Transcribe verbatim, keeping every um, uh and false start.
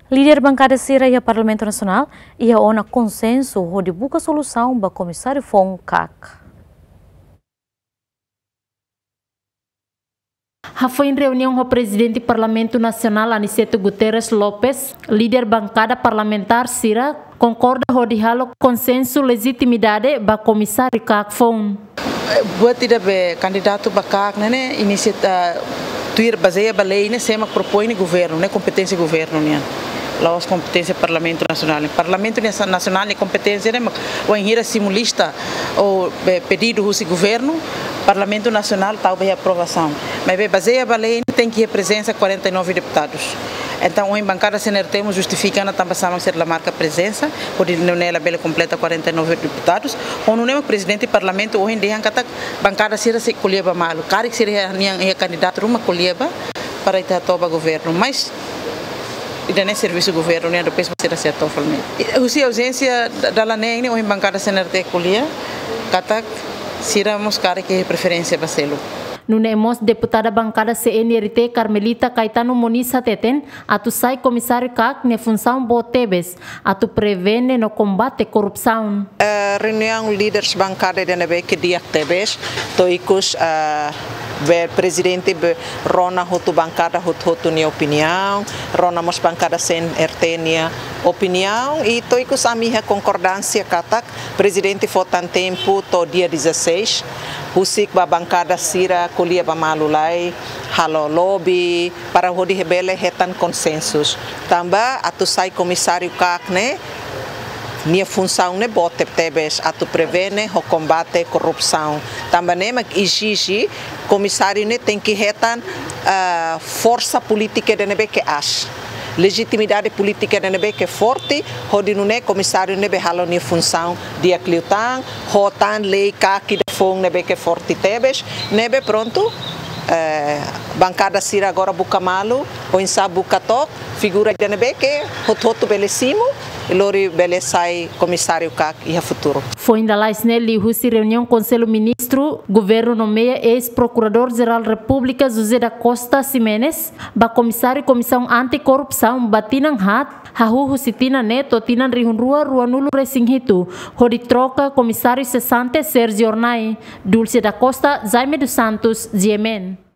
Líder bankada sira iha Parlamentu Nasionál iha ona konsensu hodi buka solusaun ba Komisáriu Foun KAK. Hafoin reuniaun ho Prezidente Parlamentu Nasionál Aniceto Guterres Lopes, líder bankada parlamentár sira konkorda hodi halo konsensu lejitimidade ba Komisáriu KAK foun. Buat ida be kandidatu ba KAK ne'e, ne'e inisiativa tuir bazeia ba lei ne'e, sé mak propoin ne'e governu, ne'e kompeténsia governu nian. La'ós kompeténsia Parlamentu Nasionál. Parlamentu nia sa-, Nasionál nia kompeténsia ne'e mak wainhira simu lista ou be pedidu husi governu, Parlamentu Nasionál tau ba iha aprovasaun. Maibé bazeia ba lei ne'e tenke iha prezensa quarenta e nove deputadus. Entaun, ohin bankada C N R T mós justifika ona tanba sá mak sira la marka prezensa, hodi nune'e labele kompleta quarenta e nove deputadus. Ho nune'e mak Prezidente Parlamentu ohin dehan katak bankada sira sei ko'alia ba malu. Karik sira iha nian iha kandidatu ruma, ko'alia ba para ita hato'o ba governu. Mas ida-ne'e servisu governu nian, depois sira sei hato'o fali. Husi auzénsia da-, dala neen ne'e, ohin bankada C N R T ko'alia katak sira mós karik iha preferénsia ba seluk. Nune'e mós deputada bankada C N R T Carmelita Caetano Moniz hateten, atu sai Komisáriu KAK nia funsaun boot tebes atu prevene no kombate korrupsaun. Eh, reuniaun líderes bankada ida ne'ebé ke di'ak tebes, to'o ikus, eh, be Prezidente be rona hotu bankada hotu-hotu nia opiniaun, rona mós bankada C N R T nia opiniaun, i to'o ikus ami iha konkordánsia katak Prezidente fó tan tempu to'o dia dezasseis, husik ba bankada sira ko'alia ba malu lai, halo lobby, para hodi bele hetan konsensus. Tanba atu sai Komisáriu KAK ne'e, nia funsaun ne'e boot tebes, atu prevene ho kombate korrupsaun. Tanba ne'e mak ezije Komisáriu ne'e tenke hetan, ah, forsa polítika ida ne'ebé ke aas, lejitimidade polítika ida ne'ebé ke forte, hodi nune'e Komisáriu ne'e bele halo nia funsaun di'ak liután, ho tan lei KAK ida foun ne'ebé ke forte tebes, ne'ebé prontu, eh, bankada sira agora buka malu, oinsá buka took figura ida ne'ebé ke hotu-hotu bele simu, i lori bele sai Komisáriu KAK iha futuru. Foin lalais ne'e, liuhusi reuniaun Konsellu Ministru, governu nomeia eis-Prokuradór-Jerál Repúblika José da Costa Ximenes ba Komisáriu Komisaun Anti-Korrupsaun ba tinan haat, hahú husi tinan ne'e to'o tinan rihun rua ruanulu resin hitu, hodi troka Komisáriu sesante Sérgio Hornai. Dulce da Costa, Jaime dos Santos, G M N.